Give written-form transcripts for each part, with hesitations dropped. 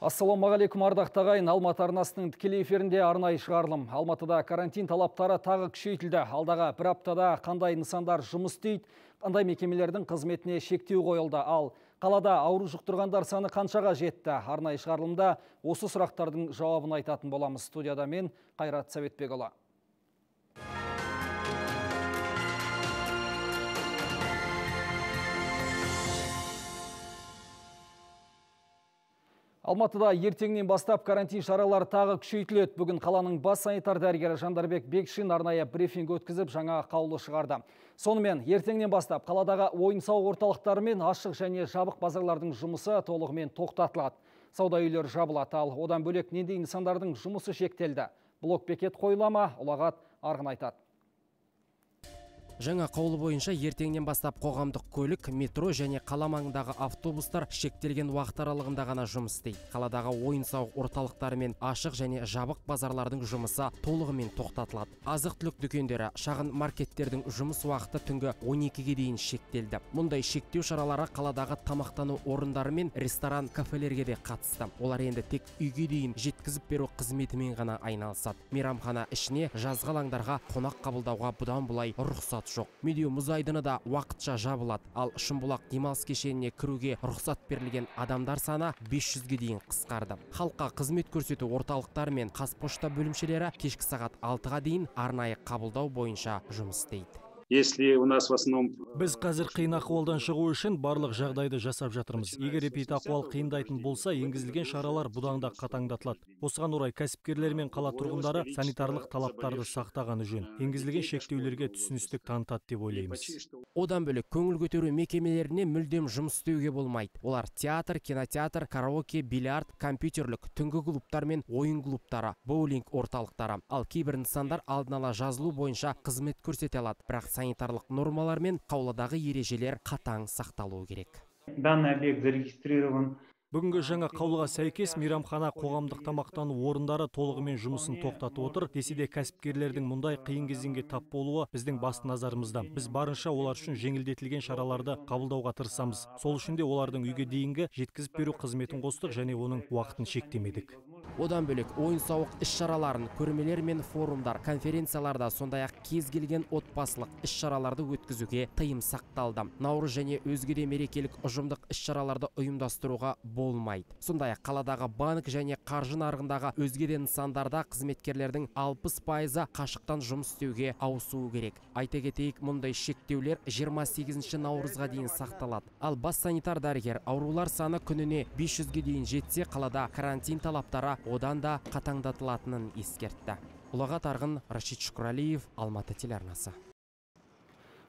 Ассалаумағалейкум ардақты ағайын. Алматы арнасының тікелей эфирінде арнайы шығарылым. Алматыда карантин талаптары тағы күшейтілді. Алдағы бір аптада қандай нысандар жұмыс істейді, қандай мекемелердің қызметіне шектеу қойылды. Ал қалада ауру жұқтырғандар саны қаншаға жетті? Арнайы шығарылымда осы сұрақтардың жауабын айтатын боламыз. Студияда мен Қайрат Сәбетбекұлы. Алматыда ертеңнен бастап карантин шаралары тағы күшейтіледі. Бүгін қаланың бас санитар дәрігері Жандарбек Бекшин арнайы брифинг өткізіп, жаңа қаулы шығарды. Сонымен ертеңнен бастап қаладағы ойын-сауық орталықтары мен ашық және жабық базарлардың жұмысы толығымен тоқтатылады. Сауда үйлері жабылады, ал одан бөлек нендей нысандардың жұмысы шектелді. Блок-бекет қойылама, ұлағат арғын айтады. Жаңа қаулы бойынша ертеңнен бастап қоғамдық көлік, метро және қала маңындағы автобустар шектелген уақыт аралығында ғана жұмыс істейді. Қаладағы ойын-сауық орталықтары мен ашық және жабық базарлардың жұмысы толығымен тоқтатылады. Азық-түлік дүкендері, шағын маркеттердің жұмыс уақыты түнгі 12-ге дейін шектелді. Мұндай шектеу шаралары қаладағы тамақтану орындары мен ресторан, кафелерге де қатысты. Олар енді тек үйге дейін жеткізіп беру қызметімен ғана айналысады. Мейрамхана ішіне, жазғы алаңдарға қонақ қабылдауға бұдан бұлай рұқсат жоқ. Медеу мұз айдыны да уақытша жабылады. Ал Шымбұлақ демалыс кешеніне кіруге рұқсат берілген адамдар саны 500-ге дейін қысқарды. Халыққа қызмет көрсету орталықтары мен Қазпошта бөлімшелері кешкі сағат 6-ға дейін арнайы қабылдау бойынша жұмыс істейді. Если у нас в основном... Біз қазір қиын ахуалдан шығу үшін барлық жағдайды жасап жатырмыз. Егер эпидахуал қиындайтын болса, енгізілген шаралар бұдан да қатаңдатылады. Осыған орай кәсіпкерлер мен қала тұрғындары санитарлық талаптарды сақтағаны жөн. Енгізілген шектеулерге түсіністік танытады деп ойлаймыз. Одан бөлек көңіл көтеру мекемелеріне мүлдем жұмыс істеуге болмайды. Олар театр, кинотеатр, караоке, бильярд, компьютерлік, түнгі клубтар мен ойын клубтары, боулинг орталықтары. Ал кейбір нысандар алдын ала жазылу бойынша қызмет көрсете алады. Бірақ санитарлық нормалар мен қаулыдағы ережелер қатаң сақталуы керек. Данный объект зарегистрирован. Бүгінгі жаңа қаулыға сәйкес мейрамхана, қоғамдық тамақтану орындары толығымен жұмысын тоқтатып отыр. Десе де кәсіпкерлердің мұндай қиын кезеңге тап болуы біздің басты назарымызда. Біз барынша олар үшін жеңілдетілген шараларды қабылдауға тырысамыз. Сол үшін де олардың үйге дейінгі жеткізіп беру қызметін қостық және оның уақытын шектемедік. Одан бөлек ойын-сауық іс-шараларын, көрмелер мен форумдар, конференцияларда, сондай-ақ кез келген отбасылық іс-шараларды өткізуге тыйым сақталды. Наурыз және өзге де мерекелік ұжымдық іс-шараларды ұйымдастыруға болмайды. Сондай-ақ қаладағы банк және қаржы нарығындағы өзге де нысандарда қызметкерлердің 60% қашықтан жұмыс істеуге ауысуы керек. Айта кетейік, мұндай шектеулер 28 наурызға дейін сақталады. Ал бас санитар дәрігер аурулар саны күніне 500-ге дейін жетсе, қалада карантин талаптары одан да қатаңдатылатынын ескертті. Ұлағат арғын, Рашид Шүкірәлиев, Алматы телеарнасы.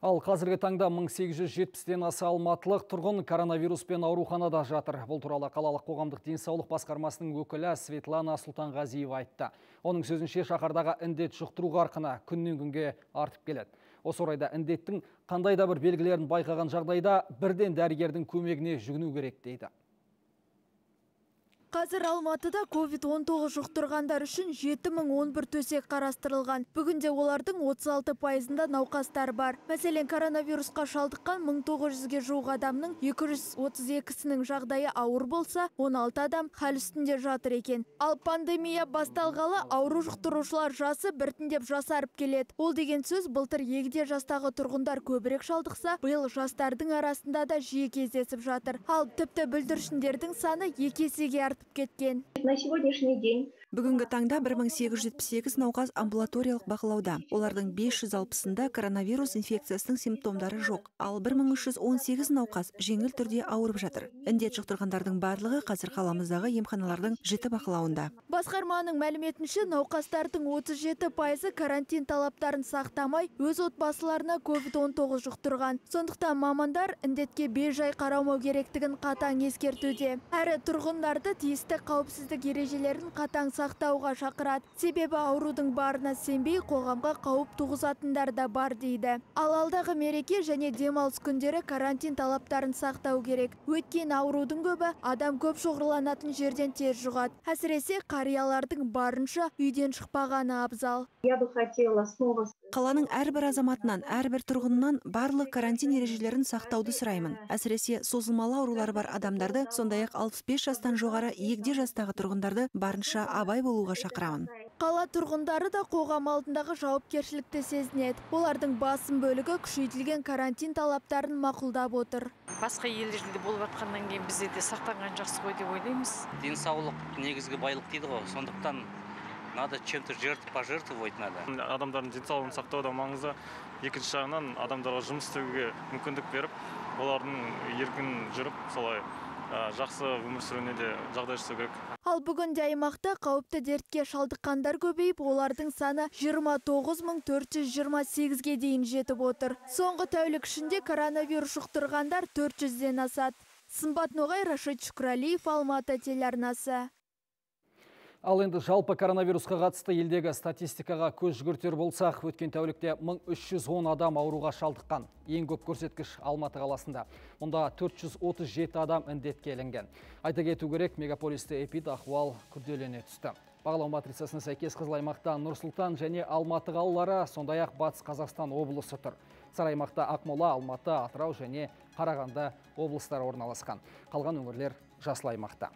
Ал қазіргі таңда 1870-ден аса алматылық тұрғын коронавируспен ауруханада жатыр. Бұл туралы қалалық қоғамдық денсаулық басқармасының өкілі Светлана Сұлтанғазиева айтты. Оның сөзінше шаһардағы індет жұқтыру қарқыны күннен күнге артып келеді. Осы орайда індеттің қандай да бір белгілерін байқаған жағдайда бірден дәрігердің көмегіне жүгіну керек дейді. Қазір Алматыда COVID-19 жұқтырғандар үшін 7011 төсек қарастырылған. Бүгінде олардың 36%-ында науқастар бар. Мәселен, коронавирусқа шалдыққан 1900-ге жуық адамның 232-сінің жағдайы ауыр болса, 16 адам хәл үстінде жатыр екен. Ал пандемия басталғалы ауру жұқтырушылар жасы біртіндеп жасарып келеді. Ол деген сөз, былтыр егде жастағы тұрғындар көбірек шалдықса, биыл жастардың арасында да жиі кездесіп жатыр. Ал тіпті бүлдіршіндердің саны 2 есеге артып кеткен. На сегодняшний день Бүгінгі таңда 1878 науқас амбулаториялық бақылауда. Олардың 560-ында коронавирус инфекциясының симптомдары жоқ. Ал 1318 науқас жеңіл түрде ауырып жатыр. Індет жұқтырғандардың барлығы қазір қаламыздағы емханалардың жіті бақылауында. Басқарманың мәліметінше, науқастардың 37% карантин талаптарын сақтамай, өз отбасыларына COVID-19 жұқтырған. Сондықтан мамандар індетке бейжай қарамау керектігін қатаң ескертуде. Әрі тұрғындарды тиісті қауіпсіздік ережелерін қатаң сақтауға шақырады. Себебі аурудың барына сенбей, қоғамға қауіп туғызатындар да бар дейді. Ал алдағы мереке және демалыс күндері карантин талаптарын сақтау керек. Өйткені аурудың көбі адам көп шоғырланатын жерден тез жұғады. Әсіресе қариялардың барынша үйден шықпағаны абзал. я бы хотела снова Қаланың әрбір азаматынан, әрбір тұрғынынан барлық карантин ережелерін сақтауды сұраймын. Әсіресе созылмалы аурулары бар адамдарды, сондай-ақ 65 жастан жоғары егде жастағы тұрғындарды барынша абай болуға шақырамын. Қала тұрғындары да қоғам алдындағы жауапкершілікті сезінеді. Олардың басым бөлігі күшейтілген карантин талаптарын мақұлдап отыр. Басқа елдерде болып жатқаннан кейін бізде де сақтанған жақсы ғой деп ойлаймыз. Денсаулық негізгі байлық дейді ғой. Сондықтан надо чем-то пожертвовать надо. Адамдардың денсаулығын сақтау да маңызды. Екінші жағынан адамдарға жұмыс істеуге мүмкіндік беріп, олардың еркін жүріп, солай жақсы өмір сүруіне де жағдай жасау керек. Ал бүгінде аймақта қауіпті дертке шалдыққандар көбейіп, олардың саны 29428-ге дейін жетіп отыр. Соңғы тәулік ішінде коронавирус жұқтырғандар 400-ден асады. Сымбат Ноғай, Рашид Шүкірәлиев, Алматы телеарнасы. Ал енді жалпы коронавирусқа қатысты елдегі статистикаға көз жүгіртер болсақ, өткен тәулікте 1310 адам ауруға шалдыққан. Ең көп көрсеткіш Алматы қаласында. Мұнда 437 адам індетке ілінген. Айта кету керек, мегаполисте эпидахуал күрделене түсті. Бағалау матрицасына сәйкес қызыл аймақта Нұр-Сұлтан және Алматы қалалары, сондай-ақ Батыс Қазақстан облысы тұр. Сары аймақта Ақмола, Алматы, Атырау және Қарағанды облыстары орналасқан. Қалған өңірлер жасыл аймақта.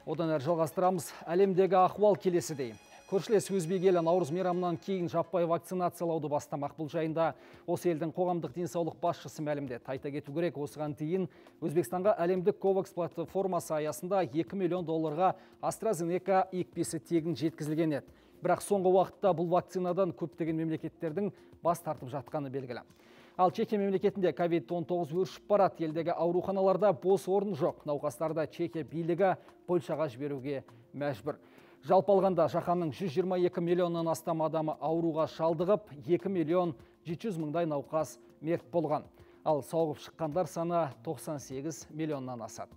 Одан әрі жалғастырамыз. Әлемдегі ахуал келесідей. Көршілес Өзбек елі Наурыз мейрамынан кейін жаппай вакцинациялауды бастамақ. Бұл жайында осы елдің қоғамдық денсаулық басшысы мәлімдеді. Айта кету керек, осыған дейін Өзбекстанға әлемдік COVAX платформасы аясында 2 миллион долларға AstraZeneca екпесі тегін жеткізілген еді. Бірақ соңғы уақытта бұл вакцинадан көптеген мемлекеттердің бас тартып жатқаны белгілі. Ал Чехия мемлекетінде COVID-19 өршіп барады. Елдегі ауруханаларда бос орын жоқ. Науқастарды Чехия билігі Польшаға жіберуге мәжбүр. Жалпы алғанда жаһанның 122 миллионнан астам адамы ауруға шалдығып, 2 миллион 700 мыңдай науқас мерт болған. Ал сауығып шыққандар саны 98 миллионнан асады.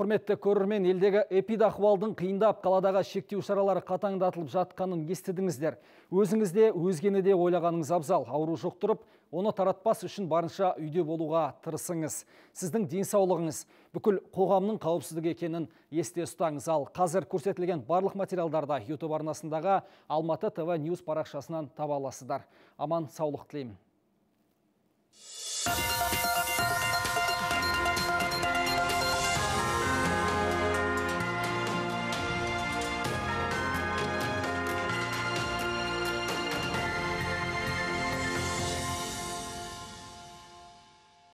Құрметті көрермен, елдегі эпидахуалдың қиындап, қаладағы шектеу шаралары қатаңдатылып жатқанын естідіңіздер. Өзіңізде, өзгені де ойлағаныңыз абзал. Ауру жұқтырып, оны таратпас үшін барынша үйде болуға тырысыңыз. Сіздің денсаулығыңыз бүкіл қоғамның қауіпсіздігі екенін есте ұстаңыз. Ал қазір көрсетілген барлық материалдарда YouTube арнасындағы Алматы ТВ News парақшасынан таба аласыздар. Аман саулық тілеймін.